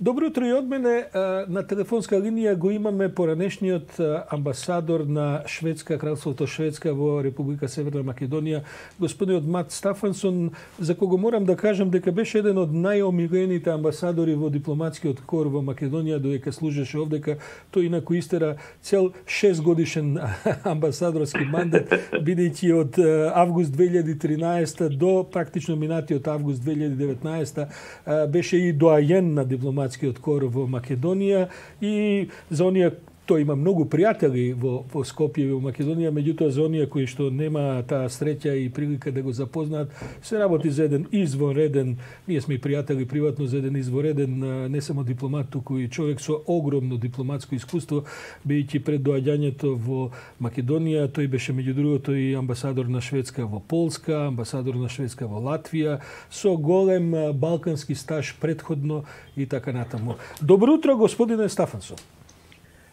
Добро утро и од мене. На телефонска линија го имаме поранешниот амбасадор на Шведска, Кралството Шведска во Република Северна Македонија, господинот Мат Стафансон, за кого морам да кажам дека беше еден од најомилените амбасадори во дипломатскиот кор во Македонија, додека служеше овдека. Тој инаку истера цел 6 годишен амбасадорски мандат, бидејќи од август 2013 до практично минатиот август 2019 беше и доајен на дипломатскиот кор во Македонија и за оние тој има многу пријатели во Скопје во Македонија, меѓутоа за оние кои што нема таа среќа и прилика да го запознаат, се работи за еден извонреден, ние сме и пријатели приватно, за еден извонреден не само дипломат, туку и човек со огромно дипломатско искуство, бидејќи пред доаѓањето во Македонија тој беше меѓу другото и амбасадор на Шведска во Полска, амбасадор на Шведска во Латвија, со голем балкански стаж претходно и така натаму. Добро утро, господине Стафансон.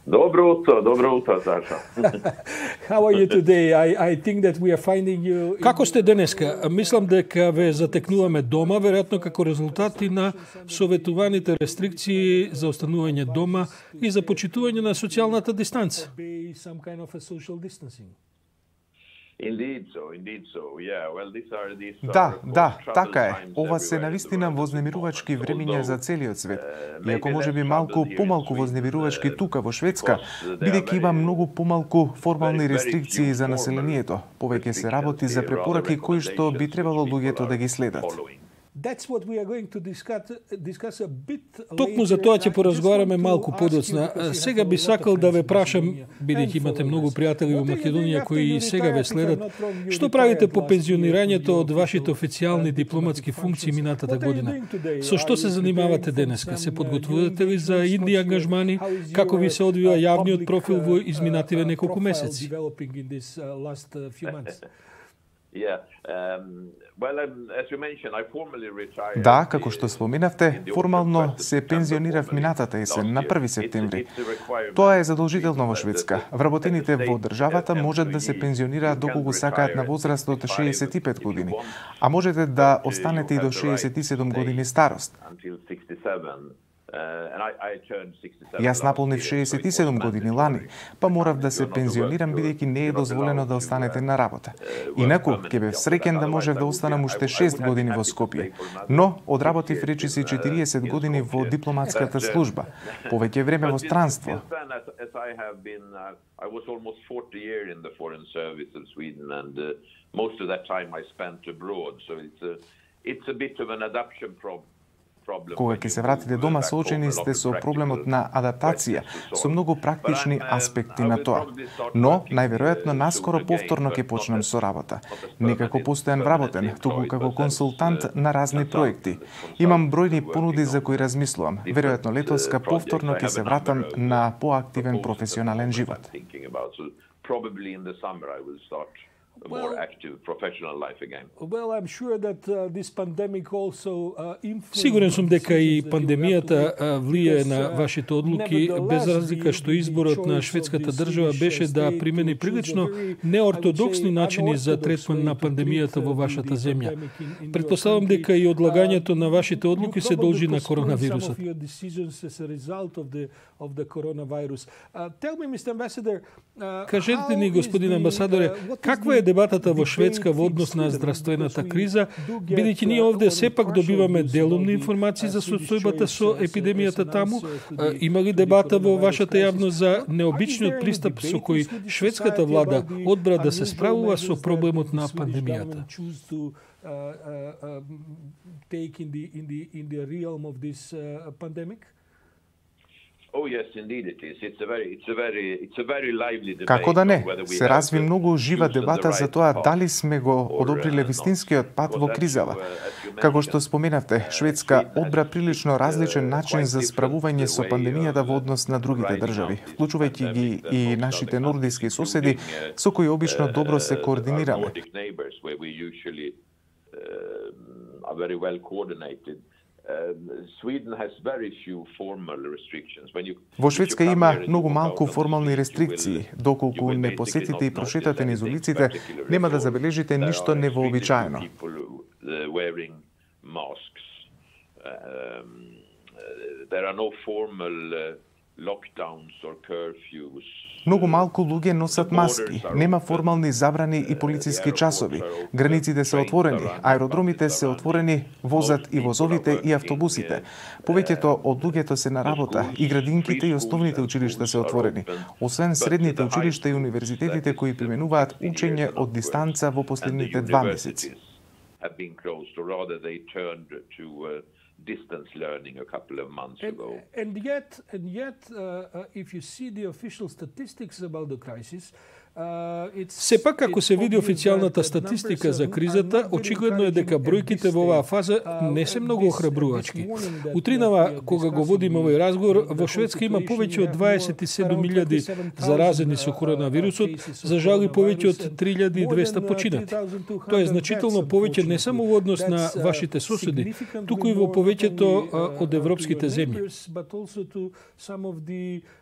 Добро утро, Саша. How are you today? I think that we are finding you... Како сте денеска? Мислам дека ве затекнуваме дома, веројатно како резултати на советуваните рестрикции за останување дома и за почитување на социјалната дистанца. Да, така е. Ова се навистина вознемирувачки времиња за целиот свет. Иако можеби малку помалку вознемирувачки тука во Шведска, бидејќи има многу помалку формални рестрикции за населението, повеќе се работи за препораки кои што би требало луѓето да ги следат. Токму за тоа ќе поразговараме малку подоцна. Сега би сакал да ве прашам, бидејќи имате многу пријатели во Македонија кои и сега ве следат, што правите по пензионирањето од вашите официјални дипломатски функции минатата година? Со што се занимавате денеска? Се подготвувате ли за инди ангажмани? Како ви се одвива јавниот профил во изминативе неколку месеци? Да, како што споменавте, формално се пензионирав минатата есен на 1 септември. Тоа е задолжително во Шведска. Вработените во државата можат да се пензионираат доколку сакаат на возраст од 65 години, а можете да останете и до 67 години старост. Јас наполнив 67 години лани, па морав да се пензионирам бидејќи не е дозволено да останете на работа. Инаку, ќе бев среќен да можев да останам уште 6 години во Скопје, но одработив речиси 40 години во дипломатската служба, повеќе време во странство. Кога ќе се вратите дома, соочени сте со проблемот на адаптација, со многу практични аспекти на тоа. Но, најверојатно, наскоро повторно ќе почнем со работа. Не како постојан вработен, туку како консултант на разни проекти. Имам бројни понуди за кои размислувам. Веројатно летоска повторно ќе се вратам на поактивен професионален живот. Сигурен сум дека и пандемијата влијае на вашите одлуки, без разлика што изборот на шведската држава беше да примени прилично неортодоксни начини за третман на пандемијата во вашата земја. Претпоставам дека и одлагањето на вашите одлуки се должи на коронавирусот. Кажете ни, господин амбасадоре, каква е дебатата во Шведска во однос на здравствената криза, бидејќи ние овде сепак добиваме делумни информации за состојбата со епидемијата таму? Има ли дебата во вашата јавност за необичниот пристап со кој шведската влада одбра да се справува со проблемот на пандемијата? Како да не, се разви многу жива дебата за тоа дали сме го одобриле вистинскиот пат во кризава. Како што споменавте, Шведска одбра прилично различен начин за справување со пандемијата во однос на другите држави, вклучувајќи ги и нашите нордиски соседи, со кои обично добро се координираме. Во Шведска има многу малку формални рестрикции. Доколку не посетите и прошетате низ улиците, нема да забележите ништо невообичаено. there are no formal lockdowns or curfews. Многу малку луѓе носат маски, нема формални забрани и полициски часови. Границите се отворени, аеродромите се отворени, возат и возовите и автобусите. Повеќето од луѓето се на работа и градинките и основните училишта се отворени, освен средните училишта и универзитетите кои применуваат учење од дистанца во последните 2 месеци. Distance learning a couple of months ago. And yet, if you see the official statistics about the crisis, Сепак, ако се види официјалната статистика за кризата, очигледно е дека бројките во оваа фаза не се многу охрабрувачки. Утринава, кога го водиме овој разговор, во Шведска има повеќе од 27.000 заразени со коронавирусот, за жал и повеќе од 3.200 починати. Тоа е значително повеќе не само во однос на вашите соседи, туку и во повеќето од европските земји.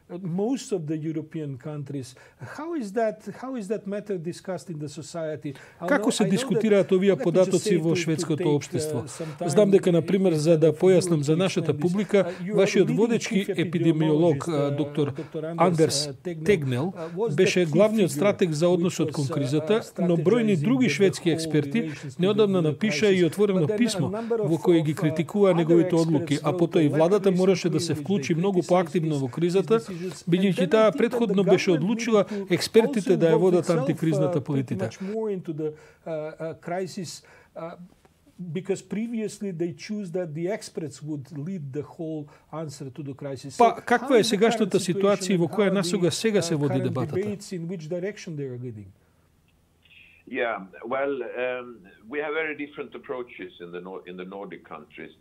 Most of the European countries. How is that matter discussed in the society? Како се дискутираат овие податоци во шведското општество? Знам дека, на пример, за да појаснам за нашата публика, вашиот водечки епидемиолог, доктор Андерс Тегнел, беше главниот стратег за односот кон кризата, но бројни други шведски експерти неодамна напиша и отворено писмо во кое ги критикува неговите одлуки, а потоа и владата мораше да се вклучи многу поактивно во кризата, бидејќи таа претходно беше одлучила експертите да ја водат антикризната политика. Because previously they choose that the experts would lead the whole answer to the crisis. Па каква е сегашната ситуација во која насога сега се води дебатата? Yeah, well, we have very different approaches in the Nordic countries.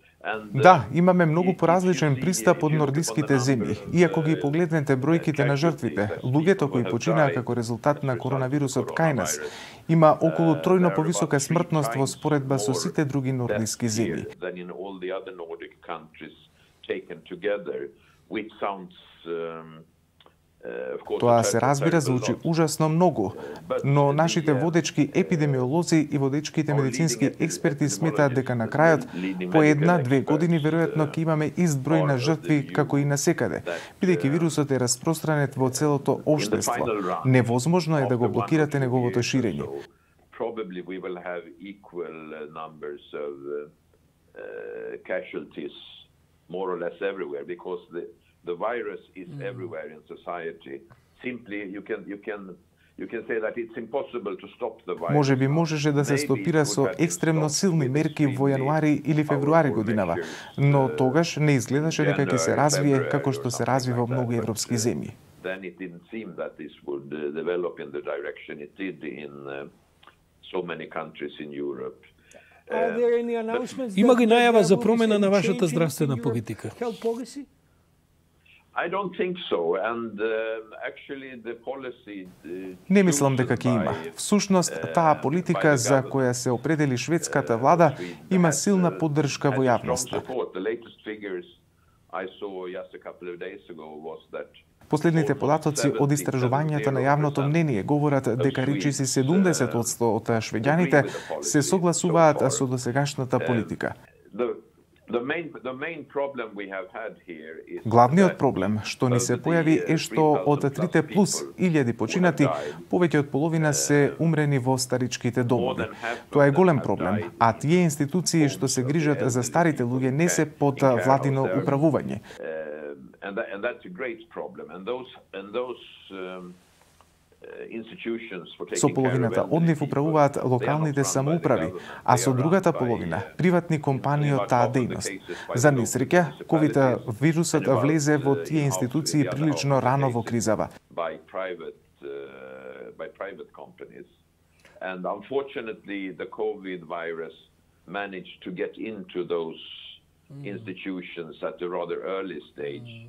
Да, имаме многу поразличен пристап од нордиските земји. И ако ги погледнете бројките на жртвите, луѓето кои починаа како резултат на коронавирусот кај нас, има околу тројно повисока смртност во споредба со сите други нордиски земји. Тоа се разбира, звучи ужасно многу, но нашите водечки епидемиолози и водечките медицински експерти сметаат дека на крајот по 1-2 години веројатно ќе имаме ист број на жртви како и насекаде, бидејќи вирусот е распространет во целото општество. Невозможно е да го блокирате неговото ширење. The virus is everywhere in society. Simply, you can say that it's impossible to stop the virus. Можеби можеше да се стопира со екстремно силни мерки во јануари или февруари годинава, но тогаш не изгледаше дека ќе се развие како што се разви во многу европски земји. Then it didn't seem that this would develop in the direction it did in so many countries in Europe. Има ли најава за промена на вашата здравствена политика? I don't think so, and actually the policy. Не мислам дека ќе има. Всушност, таа политика за која се определи шведската влада има силна поддршка во јавноста. Последните податоци од истражувањата на јавното мнение говорат дека речиси 70% од швеѓаните се согласуваат со досегашната политика. Главниот проблем што ни се појави е што од 3+ починати, повеќе од половина се умрени во старичките домови. Тоа е голем проблем, а тие институции што се грижат за старите луѓе не се под владино управување. Со половината од нив управуваат локалните самоуправи, а со другата половина приватни компании од таа дејност. За несреќа, ковид-вирусот влезе во тие институции прилично рано во кризава. And unfortunately, the COVID virus managed to get into those institutions at a rather early stage.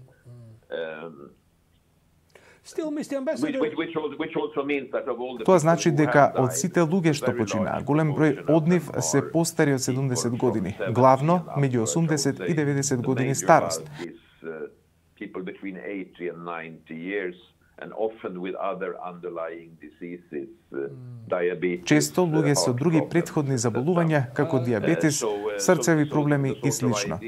Тоа значи дека од сите луѓе што починаа, голем број од нив се постари од 70 години, главно меѓу 80 и 90 години старост. Често луѓе со други претходни заболувања, како дијабетес, срцеви проблеми и слично.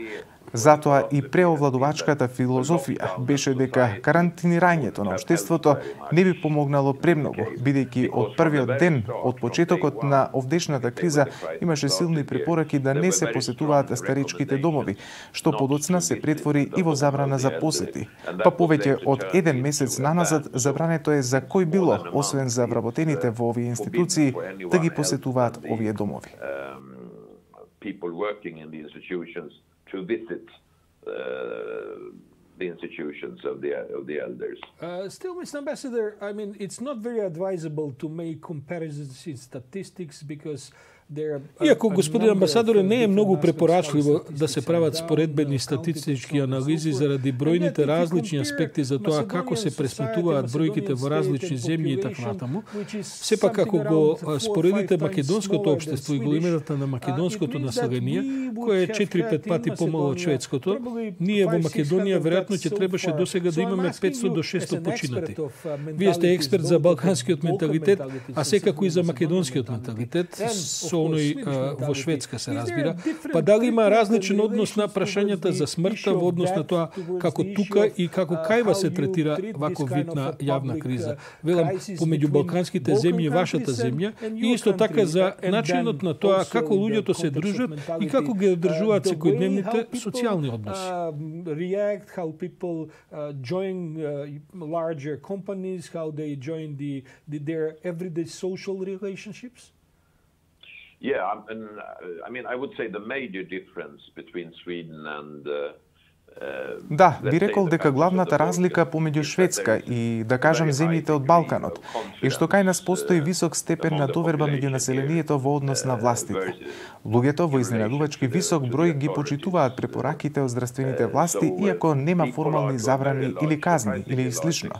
Затоа и преовладувачката филозофија беше дека карантинирањето на општеството не би помогнало премногу, бидејќи од првиот ден од почетокот на овдешната криза имаше силни препораки да не се посетуваат старичките домови, што подоцна се претвори и во забрана за посети. Па повеќе од еден месец наназад забрането е за кој било, освен за вработените во овие институции, да ги посетуваат овие домови. People working in the institutions to visit the institutions of the elders. Still, Mr. Ambassador, I mean, it's not very advisable to make comparisons in statistics because Иако, господин амбасадоре, не е многу препорачливо да се прават споредбени статистички анализи заради бројните различни аспекти за тоа како се пресметуваат бројките во различни земји и така натаму, сепак ако го споредите македонското општество и големината на македонското население, кое е 4-5 пати помало од шведското, ние во Македонија веројатно ќе требаше досега да имаме 500 до 600 починати. Вие сте експерт за балканскиот менталитет, а секако и за македонскиот менталитет, со оној во Шведска се разбира. Па дали има различен однос на прашањата за смртта во однос на тоа како тука и како кајва се третира ваков вид на јавна криза? Велам, помеѓу балканските земји и вашата земја, и исто така за начинот на тоа како луѓето се дружат и како ги одржуваат секојдневните социјални односи. React, how people join larger companies, how they join their everyday social relationships? Yeah, I mean, I would say the major difference between Sweden and Да, би рекол дека главната разлика помеѓу Шведска и, да кажам, земјите од Балканот е што кај нас постои висок степен на доверба меѓу населението во однос на властите. Луѓето во изненадувачки висок број ги почитуваат препораките од здравствените власти, иако нема формални забрани или казни или слично.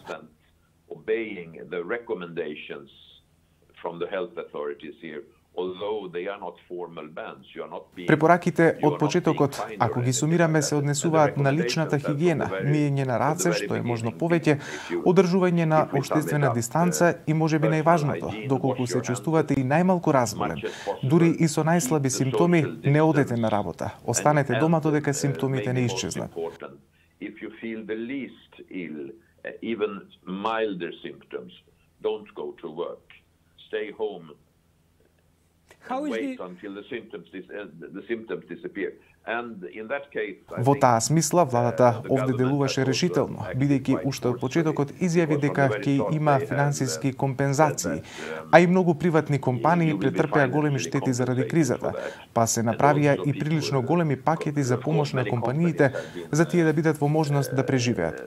Препораките од почетокот, ако ги сумираме, се однесуваат на личната хигиена, миење на раце, што е можно повеќе, одржување на општествена дистанца и можеби најважното, доколку се чувствувате и најмалку разболен, дури и со најслаби симптоми, не одете на работа. Останете дома додека симптомите не исчезнат. Stay home. Wait until the symptoms disappear. Во таа смисла, владата овде делуваше решително, бидејќи уште од почетокот изјави дека ќе има финансиски компензации, а и многу приватни компании претрпеа големи штети заради кризата, па се направија и прилично големи пакети за помош на компаниите за тие да бидат во можност да преживеат.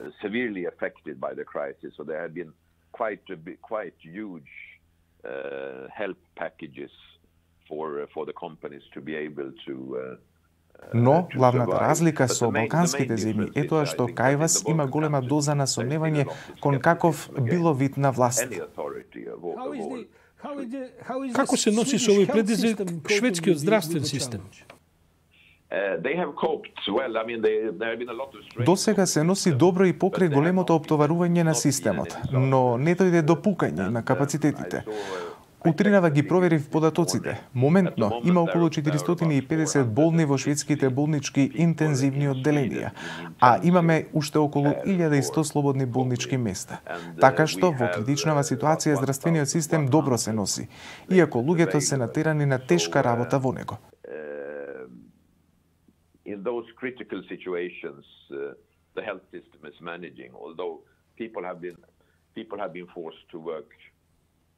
Help packages for the companies to be able to Но главната разлика со балканските земји е тоа што кај вас има голема доза на сомневање кон каков било вид на власт. Како се носи со овој предизвик шведскиот здравствен систем? Досега се носи добро и покрај големото оптоварување на системот, но не дојде до пукање на капацитетите. Утринава ги проверив податоците. Моментно има околу 450 болни во шведските болнички интензивни одделенија, а имаме уште околу 1100 слободни болнички места. Така што во критичнава ситуација здравствениот систем добро се носи, иако луѓето се натерани на тешка работа во него. In those critical situations, the health system is managing, although people have been forced to work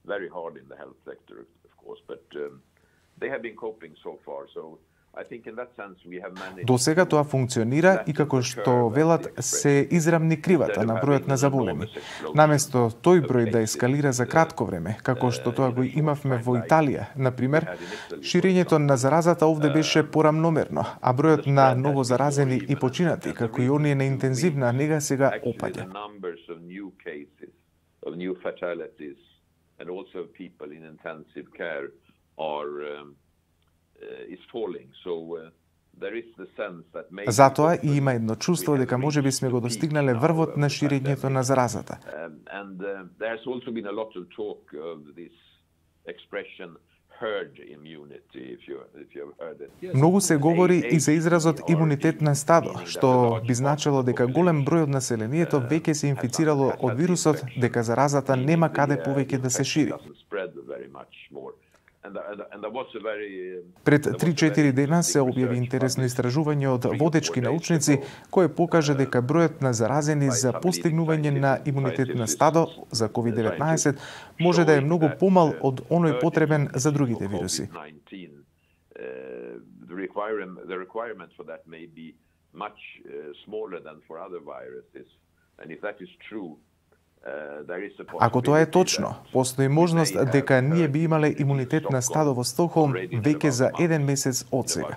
very hard in the health sector, of course, but they have been coping so far. So I think in that sense we have managed. До сега тоа функционира и како што велат се израмни кривата на бројот на заболени. Наместо тој број да ескалира за кратко време, како што тоа го имавме во Италија, на пример, ширењето на заразата овде беше порамномерно, а бројот на ново заразени и починати, како и оние на интензивна нега сега опаѓа. And also people in intensive care is falling. So there is the sense that maybe Затоа и има едно чувство дека можеби сме го достигнале врвот на ширењето на заразата. And there has also been a lot of talk of this expression Многу се говори и за изразот имунитет на стадо, што би значило дека голем број од населението веќе се инфицирало од вирусот, дека заразата нема каде повеќе да се шири. Пред 3-4 дена се објави интересно истражување од водечки научници кој покажа дека бројот на заразени за постигнување на имунитет на стадо за COVID-19 може да е многу помал од оној потребен за другите вируси. Ако тоа е точно, постои можност дека ние би имале имунитет на стадо во Стокхолм веќе за 1 месец од сега.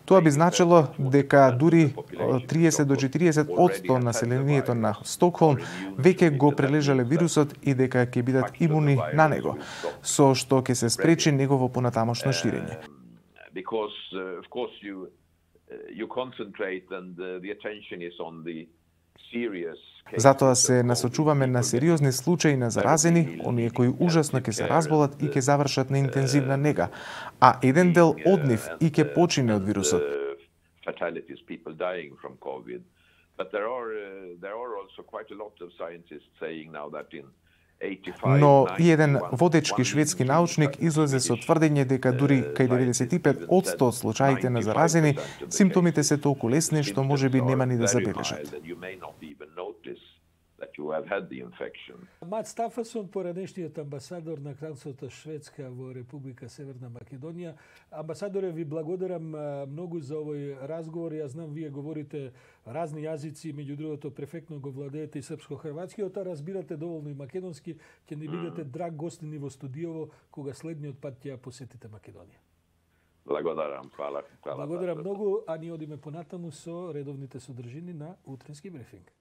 Тоа би значило дека дури 30 до 40% населението на Стокхолм веќе го прележале вирусот и дека ќе бидат имуни на него, со што ќе се спречи негово понатамошно ширење. Затоа се насочуваме на сериозни случаи на заразени, оние кои ужасно ќе се разболат и ќе завршат на интензивна нега, а еден дел од нив и ќе почине од вирусот. Но и еден водечки шведски научник излезе со тврдење дека дури кај 95% од случаите на заразени, симптомите се толку лесни што можеби нема ни да забележат. Мат Стафансон, поранешниот амбасадор на Кралството Шведска во Република Северна Македонија. Амбасадоре, ви благодарам многу за овој разговор. Јас знам, вие говорите разни јазици, меѓу другото перфектно го владеете и српско-хрватскиот, а разбирате доволно и македонски. Ќе ни бидете драг гостини во студиово кога следниот пат ќе ја посетите Македонија. Благодарам, хвала. Благодарам многу, а ние одиме понатаму со редовните содржини на утренски брифинг.